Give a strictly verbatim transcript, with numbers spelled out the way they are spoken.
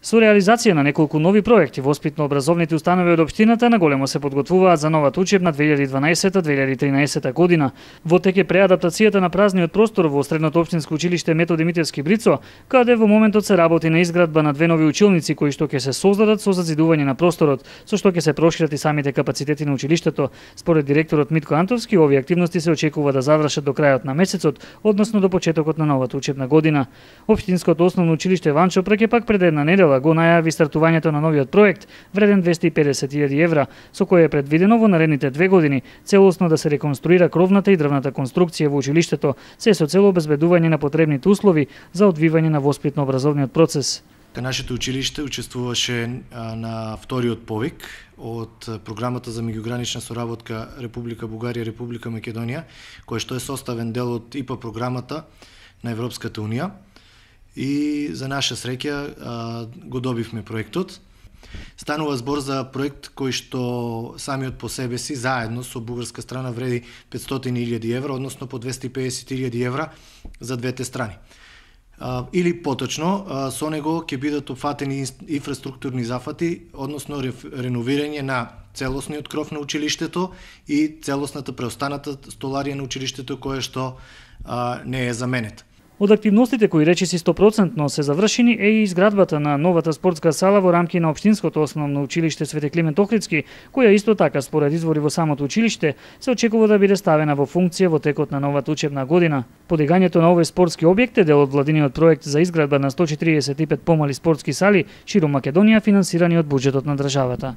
Со реализација на неколку нови проекти, воспитно-образовните установи од општината наголемо се подготвуваат за новата учебна две илјади и дванаесета две илјади и тринаесета година. Во тек е преадаптацијата на празниот простор во Средното општинско училиште Методи Митевски Брицо, каде во моментот се работи на изградба на две нови училници кои што ќе се создадат со зазидување на просторот, со што ќе се прошират и самите капацитети на училиштето. Според директорот Митко Антовски, овие активности се очекува да завршат до крајот на месецот, односно до почетокот на новата учебна година. Општинското основно училиште Ванчо преќе пак пред една недела го најави стартувањето на новиот проект вреден двесте и педесет илјади евра, со кој е предвидено во наредните две години целосно да се реконструира кровната и дрвната конструкција во училиштето, се со цел обезбедување на потребните услови за одвивање на воспитно-образовниот процес. Нашето училиште учествуваше на вториот повик од програмата за меѓугранична соработка Република Бугарија – Република Македонија, кој што е составен дел од ИПА програмата на Европската унија. И за наша среќа го добивме проектот. Станува збор за проект кој што самиот по себе си заедно со бугарска страна вреди петстотини илјади евра, односно по двесте и педесет илјади евра за двете страни. Или поточно, со него ќе бидат опфатени инфраструктурни зафати, односно реновирање на целосниот кров на училиштето и целосната преостаната столарија на училиштето која што не е заменета. Од активностите кои речиси сто проценти се завршени е и изградбата на новата спортска сала во рамки на општинското основно училиште Свети Климент Охридски, која исто така според извори во самото училиште се очекува да биде ставена во функција во текот на новата учебна година. Подигањето на овој спортски објект е дел од владиниот проект за изградба на сто четириесет и пет помали спортски сали ширум Македонија, финансирани од буџетот на државата.